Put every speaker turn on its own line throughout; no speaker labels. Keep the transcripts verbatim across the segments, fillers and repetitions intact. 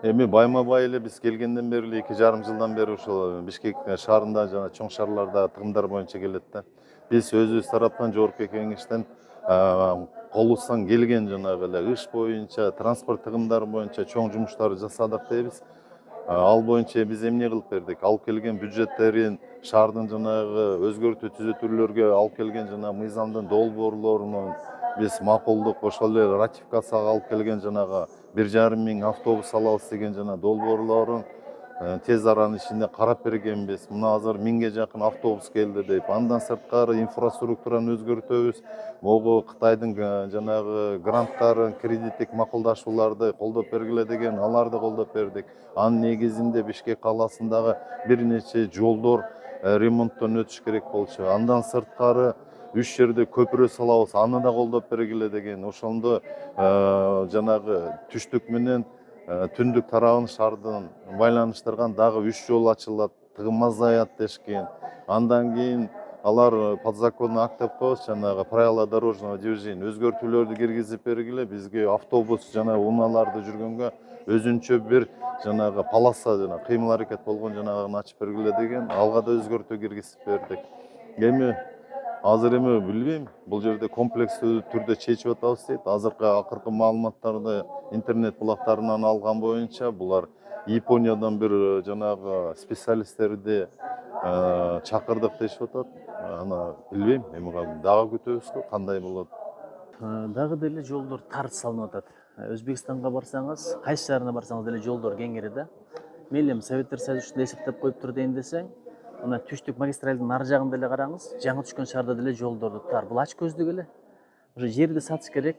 Эми байма-бай эле биз келгенден бери эле эки жарым жылдан бери ушул Бишкек шаарында жана чоң шаарларда тыгымдар боюнча келет да. Биз өзүбүз тараптан жогорку кеңештен колубуздан келген жанагы эле иш боюнча, транспорт тыгымдары боюнча чоң жумуштарды жасадык дейбиз. Ал боюнча биз эмне кылып бердик? Алып келген бюджеттерин шаардын жанагы өзгөртүү түзөтүүлөргө алып келген жана мыйзамдын долбоорлорун биз макулдук, ошол эле ратификацияга алып келген жанагы бир жарым миң автобус алабыз деген жана долбоорлорун тез аранын ичинде карап бергенбиз. Мына азыр миңге жакын автобус келди деп. Андан сырткары инфраструктураны өзгөртөбүз. Могу Кытайдын жанагы гранттарын, кредиттик макулдашууларды колдоп бергиле деген, аларды колдоп бердик. Анын негизинде Бишкек калаасындагы бир нече жолдор ремонттон өтүш керек болчу. Андан сырткары үч жерде көпүрө салабыз, аны да колдоп бергиле деген. Ошондо жанагы түштүк менен түндүк тарабын шаардын байланыштырган дагы үч жол ачылат, тыгым азаят дешкен. Андан кийин алар подзаконный акт деп коебуз, жанагы правила дорожного движения өзгөртүүлөрдү киргизип бергиле, бизге автобус жана унааларды жүргөнгө өзүнчө бир жанагы полоса жана кыймыл аракет болгон жанагыны ачып бергиле деген, алга да өзгөртүү киргизип бердик. Эми азыр эми билбейм, бул жерде комплекстүү түрдө чечип атабыз дейт. Азыркы акыркы маалыматтарды интернет булактарынан алган боюнча булар Япониядан бир жанагы специалисттерди чакырдык дешип атат. Аны билбейм, эми дагы күтөбүз, кандай болот.
Дагы деле жолдор тар салынып атат. Өзбекстанга барсаңыз, кайсы шаарына барсаңыз деле жолдор кеңири да. Мейли эми Советтер Союзу эсептеп коюптур дейин десең, мына түштүк магистралдын ар жагын деле караңыз, жаңы түшкөн шаарда деле жолдорду тар. Бул ач көздүк эле. Уже жерди сатыш керек.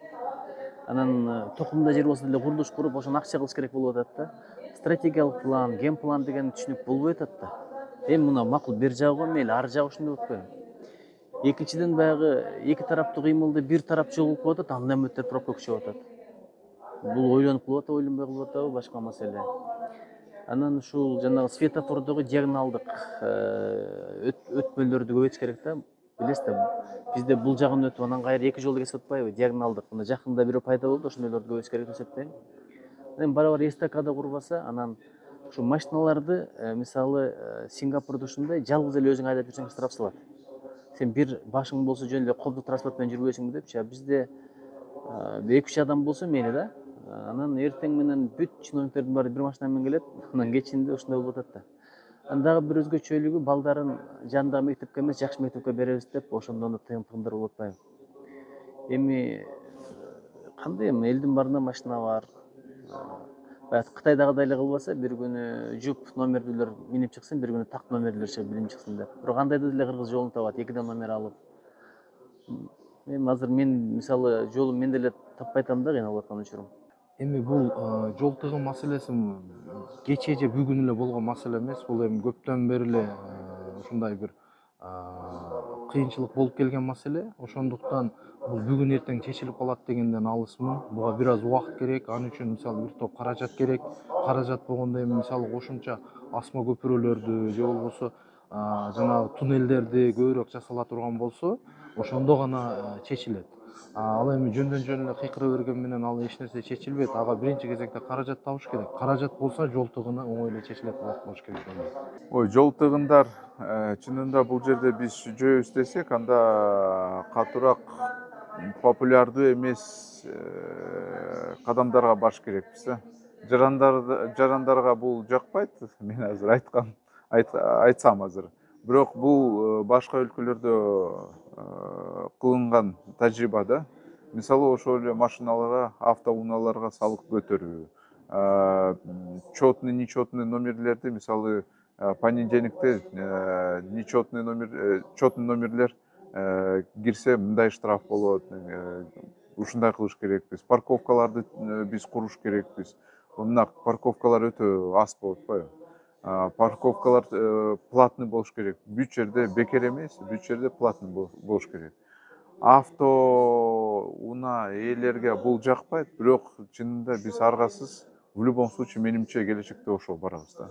Анан токумда жер болсо деле курулуш куруп, ошону акча кылыш керек болуп атат да. Стратегиялык план, ген план деген түшүнүк болбой атат да. Эми мына макул бир жагы мейли ар жагы ушундай болуп коеюн. Экинчиден баягы эки тараптуу кыймылды бир тарап жол кылып атат, андан үмүттөр пробка күчөп атат. Бул ойлонуп кылып атабы, ойлонбой кылып атабы, башка маселе. Анан ушул жанагы светофордогу диагоналдык өтмөлөрдү көбөйтүш керек да. Билесиз да, бизде бул жагын өтүп, анан кайра эки жолду кесип атпайбы, диагоналдык. Мына жакында бирөө пайда болду, ошондойлорду көбөйтүш керек деп эсептейм. Эми барабар эстакада курбаса, анан ушу машиналарды, мисалы, Сингапурда ушундай жалгыз эле өзүң айдап жүрсөң штраф салат. Сен бир башың болсо жөн эле коомдук транспорт менен жүрбөйсүңбү депчи. Бизде эки үч адам болсо мейли да. Анан эртең менен бүт чиновниктердин баары бир машина менен келет, анан кечинде ушундай болуп атат да. Анан дагы бир өзгөчөлүгү балдарын жанындагы мектепке эмес, жакшы мектепке беребиз деп, ошондон да тыйым-тыгымдар болуп атпайбы. Эми кандай эми элдин баарында машина бар. Баягы Кытайдагыдай эле кылбаса, бир күнү жуп номерлүүлөр минип чыксын, бир күнү так номерлүүлөр чыгып минип чыксын деп. Бирок андайда деле кыргыз жолун табат, экиден номер алып. Эми азыр мен мисалы жолун мен деле таппай атам да, кыйналып аткан учурум.
Эми бул жол тыгым маселеси кечээ же бүгүн эле болгон маселе эмес. Бул эми көптөн бери эле ушундай бир кыйынчылык болуп келген маселе. Ошондуктан бул бүгүн эртең чечилип калат дегенден алысмын. Буга бир аз убакыт керек. Анын үчүн мисалы бир топ каражат керек. Каражат болгондо эми мисалы кошумча асма көпүрөлөрдү же болбосо жанагы туннелдерди көбүрөөк жасала турган болсо, ошондо гана чечилет. Ал эми жөндөн жөн эле кыйкыра берген менен ал эч нерсе чечилбейт. Ага биринчи кезекте каражат табыш керек. Каражат болсо жол тыгыны оңой эле чечилет болуш керек деп ойлойм.
Ой, жол тыгындар чынында бул жерде биз жөөбүз десек, анда катуураак популярдуу эмес кадамдарга баш керекпиз да. Жарандар жарандарга бул жакпайт. Мен азыр айткан айтсам азыр. Бирок бул башка өлкөлөрдө кылынган тажрыйба да. Мисалы ошол эле машиналарга, автоунааларга салык көтөрүү, четный, нечетный номерлерди, мисалы понедельникте нечетный номер, четный номерлер кирсе мындай штраф болот. Ушундай кылыш керекпиз. Парковкаларды биз куруш керекпиз. Мына парковкалар өтө аз болуп атпайбы? Парковкалар платный болуш керек. Бүт жерде бекер эмес, бүт жерде платный болуш керек. Авто унаа ээлерге бул жакпайт, бирок чынында биз аргасыз в любом случае менимче келечекте ошол барабыз да.